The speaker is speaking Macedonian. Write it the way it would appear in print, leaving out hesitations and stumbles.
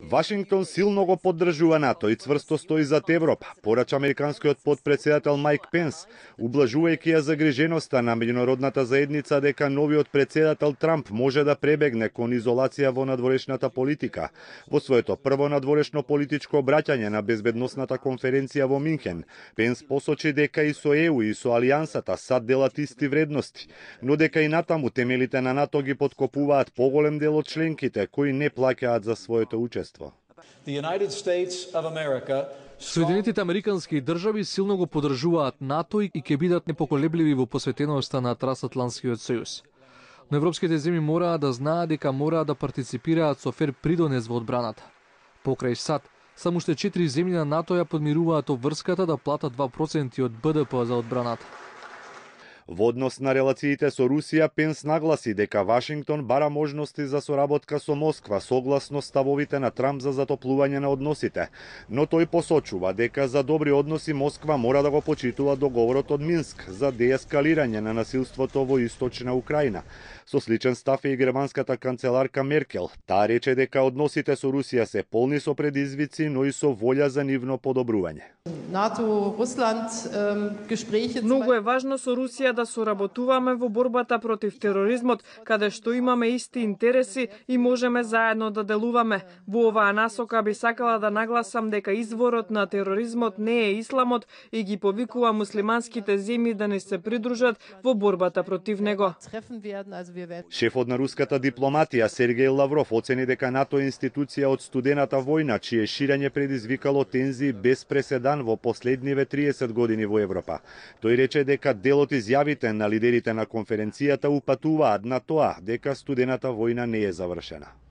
Вашингтон силно го поддржува НАТО и цврсто стои зад Европа, порача американскиот подпредседател Майк Пенс, ублажувајќи ја загриженоста на меѓународната заедница дека новиот председател Трамп може да пребегне кон изолација во надворешната политика. Во своето прво надворешно политичко обраќање на безбедносната конференција во Минхен, Пенс посочи дека и со ЕУ и со Алијансата сад делат исти вредности, но дека и натаму темелите на НАТО ги поткопуваат поголем дел од членките кои не плаќаат за своето учество. Соединетите американски држави силно го поддржуваат НАТО и ќе бидат непоколебливи во посветеноста на Трансатлантскиот сојуз. Но европските земји мораат да знаат дека мораат да партиципираат со фер придонес во одбраната. Покрај САД, само уште 4 земји на НАТО ја подмируваат обврската да платат 2% од БДП за одбраната. Во однос на релациите со Русија, Пенс нагласи дека Вашингтон бара можности за соработка со Москва согласно ставовите на Трамп за затоплување на односите, но тој посочува дека за добри односи Москва мора да го почитува договорот од Минск за деескалирање на насилството во источна Украина. Со сличен став е и германската канцеларка Меркел. Таа рече дека односите со Русија се полни со предизвици, но и со волја за нивно подобрување. Многу е важно со Русија да соработуваме во борбата против тероризмот, каде што имаме исти интереси и можеме заедно да делуваме. Во оваа насока би сакала да нагласам дека изворот на тероризмот не е исламот и ги повикува муслиманските земји да не се придружат во борбата против него. Шефот на руската дипломатија Сергеј Лавров оцени дека НАТО е институција од студената војна, чие ширење предизвикало тензии без преседан во последниве 30 години во Европа. Тој рече дека дел од изјавите на лидерите на конференцијата упатуваат на тоа дека студената војна не е завршена.